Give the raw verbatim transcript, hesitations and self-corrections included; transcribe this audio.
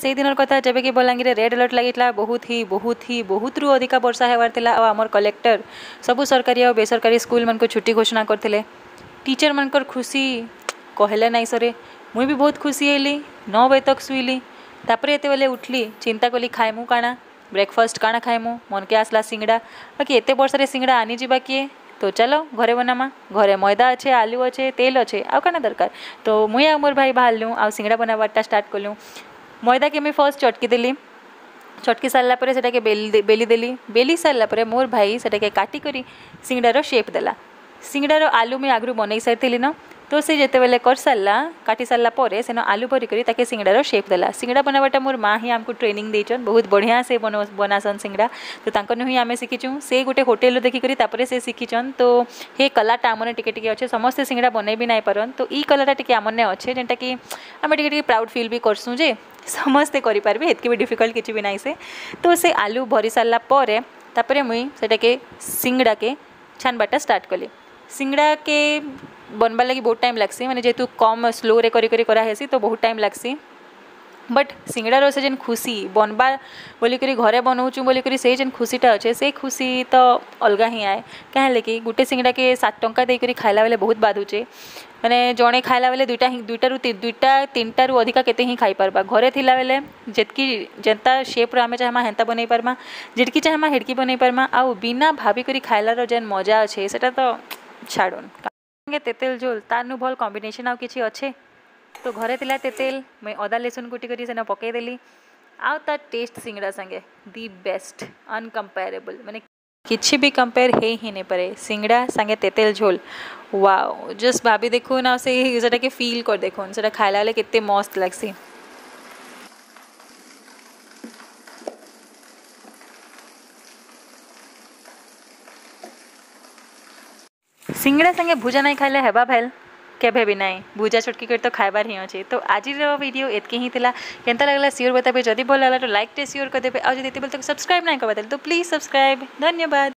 ସେଇ ଦିନର କଥା, ଯେବେ କି ବଲାଙ୍ଗୀରରେ ରେଡ୍ ଆଲର୍ଟ ଲାଗିଥିଲା, ବହୁତ ହି, ବହୁତ ହି, ବହୁତରୁ ଅଧିକା ବର୍ଷା ହେବାର ଥିଲା। ଆଉ ଆମର କଲେକ୍ଟର ସବୁ ସରକାରୀ ଆଉ ବେସରକାରୀ ସ୍କୁଲମାନଙ୍କୁ ଛୁଟି ଘୋଷଣା କରିଥିଲେ। ଟିଚରମାନଙ୍କର ଖୁସି କହିଲେ ନାଇଁ ସରେ। ମୁଇଁ ବି ବହୁତ ଖୁସି ହେଲି। ନଅ ବଜେ ତକ ଶୁଇଲି। ତାପରେ ଯେତେବେଳେ ଉଠଲି, ଚିନ୍ତା କଲି, ଖାଇମୁ କାଣା, ବ୍ରେକଫାଷ୍ଟ କାଣା ଖାଇମୁ? ମନକେ ଆସଲା ସିଙ୍ଗଡ଼ା। ବାକି ଏତେ ବର୍ଷାରେ ସିଙ୍ଗଡ଼ା ଆନି ଯିବା କିଏ? ତ ଚାଲ, ଘରେ ବନାମା। ଘରେ ମଇଦା ଅଛେ, ଆଲୁ ଅଛେ, ତେଲ ଅଛେ, ଆଉ କାଣା ଦରକାର? ତ ମୁଇଁ ଆଉ ମୋର ଭାଇ ବାହାରଲୁ, ଆଉ ସିଙ୍ଗଡ଼ା ବନାବାରଟା ଷ୍ଟାର୍ଟ କଲୁ। ମଇଦାକେ ମୁଇଁ ଫାର୍ଷ୍ଟ ଚଟକି ଦେଲି। ଚଟକି ସାରିଲା ପରେ ସେଟାକେ ବେଲି ଦେ-, ବେଲି ଦେଲି। ବେଲି ସାରିଲା ପରେ ମୋର ଭାଇ ସେଟାକେ କାଟିକରି ସିଙ୍ଗଡ଼ାର ସେପ୍ ଦେଲା। ସିଙ୍ଗଡ଼ାର ଆଲୁ ମୁଇଁ ଆଗରୁ ବନେଇ ସାରିଥିଲି ନ, ତ ସେ ଯେତେବେଳେ କରିସାରିଲା, କାଟି ସାରିଲା ପରେ ସେନ ଆଲୁ ଭରିକରି ତାକେ ସିଙ୍ଗଡ଼ାର ସେପ୍ ଦେଲା। ସିଙ୍ଗଡ଼ା ବନାବାଟା ମୋର ମା ହିଁ ଆମକୁ ଟ୍ରେନିଂ ଦେଇଛନ୍, ବହୁତ ବଢ଼ିଆ ସେ ବନ-, ବନାସନ୍ ସିଙ୍ଗଡ଼ା। ତ ତାଙ୍କନୁ ହିଁ ଆମେ ଶିଖିଛୁଁ। ସେ ଗୋଟେ ହୋଟେଲରୁ ଦେଖିକରି ତାପରେ ସେ ଶିଖିଛନ୍। ତ ହେ କଲାଟା ଆମନେ ଟିକେ ଟିକେ ଅଛେ, ସମସ୍ତେ ସିଙ୍ଗଡ଼ା ବନେଇ ବି ନାଇଁ ପାରନ୍। ତ ଇ କଲାଟା ଟିକେ ଆମନେ ଅଛେ, ଯେନ୍ଟାକି ଆମେ ଟିକେ ଟିକେ ପ୍ରାଉଡ୍ ଫିଲ୍ ବି କରସୁଁ ଯେ ସମସ୍ତେ କରିପାରିବେ, ହେତ୍କି ବି ଡିଫିକଲ୍ଟ କିଛି ବି ନାଇଁ ସେ। ତ ସେ ଆଲୁ ଭରି ସାରିଲା ପରେ, ତାପରେ ମୁଇଁ ସେଟାକେ, ସିଙ୍ଗଡ଼ାକେ ଛାନବାଟା ଷ୍ଟାର୍ଟ କଲି। ସିଙ୍ଗଡ଼ାକେ ବନବାର୍ ଲାଗି ବହୁତ ଟାଇମ୍ ଲାଗ୍ସି, ମାନେ ଯେହେତୁ କମ୍ ସ୍ଲୋରେ କରି କରି କରାହେସି, ତ ବହୁତ ଟାଇମ୍ ଲାଗ୍ସି। ବଟ୍ ସିଙ୍ଗଡ଼ାର ସେ ଯେନ୍ ଖୁସି, ବନବା ବୋଲିକରି, ଘରେ ବନଉଛୁଁ ବୋଲିକରି, ସେ ଯେନ୍ ଖୁସିଟା ଅଛେ, ସେ ଖୁସି ତ ଅଲଗା ହିଁ ଆଏ। କାଁ ହେଲେ କି ଗୋଟେ ସିଙ୍ଗଡ଼ାକେ ସାତ ଟଙ୍କା ଦେଇକରି ଖାଇଲା ବେଲେ ବହୁତ ବାଧୁଛେ। ମାନେ ଜଣେ ଖାଇଲା ବେଲେ ଦୁଇଟା ହିଁ, ଦୁଇଟାରୁ ତି-, ଦୁଇଟା, ତିନିଟାରୁ ଅଧିକା କେତେ ହିଁ ଖାଇପାରବା। ଘରେ ଥିଲା ବେଲେ ଯେତ୍କି, ଯେନ୍ତା ସେପ୍ର ଆମେ ଚାହେମା, ହେନ୍ତା ବନେଇ ପାରମା, ଯେତ୍କି ଚାହେମା, ହେତ୍କି ବନେଇ ପାରମା। ଆଉ ବିନା ଭାବିକରି ଖାଇଲାର ଯେନ୍ ମଜା ଅଛେ, ସେଟା ତ ଛାଡ଼ୁନ୍। ସାଙ୍ଗେ ତେତେଲ ଝୋଲ, ତାରନୁ ଭଲ କମ୍ବିନେସନ୍ ଆଉ କିଛି ଅଛେ? ତ ଘରେ ଥିଲା ତେତେଲ, ମୁଇଁ ଅଦା ଲେସୁନ କୁଟିକରି ସେନ ପକେଇ ଦେଲି। ଆଉ ତାର ଟେଷ୍ଟ ସିଙ୍ଗଡ଼ା ସାଙ୍ଗେ ଦି ବେଷ୍ଟ, ଅନକମ୍ପେରେବଲ୍। ମାନେ କିଛି ବି କମ୍ପେୟାର ହେଇ ହିଁ ନାଇଁ ପାରେ ସିଙ୍ଗଡ଼ା ସାଙ୍ଗେ ତେତେଲ ଝୋଲ। ୱାଓ, ଜଷ୍ଟ ଭାବି ଦେଖୁନ୍, ଆଉ ସେ, ସେଟାକେ ଫିଲ୍ କରି ଦେଖୁନ୍, ସେଟା ଖାଇଲା ବେଲେ କେତେ ମସ୍ତ ଲାଗ୍ସି। ସିଙ୍ଗଡ଼ା ସାଙ୍ଗେ ଭୁଜା ନାଇଁ ଖାଇଲେ ହେବା ଭେଲ୍? କେଭେ ବି ନାଇଁ। ଭୁଜା ଛଟକି କରି ତ ଖାଇବାର ହିଁ ଅଛେ। ତ ଆଜିର ଭିଡ଼ିଓ ଏତ୍କି ହିଁ ଥିଲା। କେନ୍ତା ଲାଗିଲା ସିଓର ବତାବେ। ଯଦି ଭଲ ଲାଗିଲା ତ ଲାଇକ୍ଟେ ସିଓର କରିଦେବେ। ଆଉ ଯଦି ଏତେ ବେଲେ ତକ ସବସ୍କ୍ରାଇବ୍ ନାଇଁ କରବା ତାହେଲେ ତ ପ୍ଲିଜ୍ ସବସ୍କ୍ରାଇବ୍। ଧନ୍ୟବାଦ।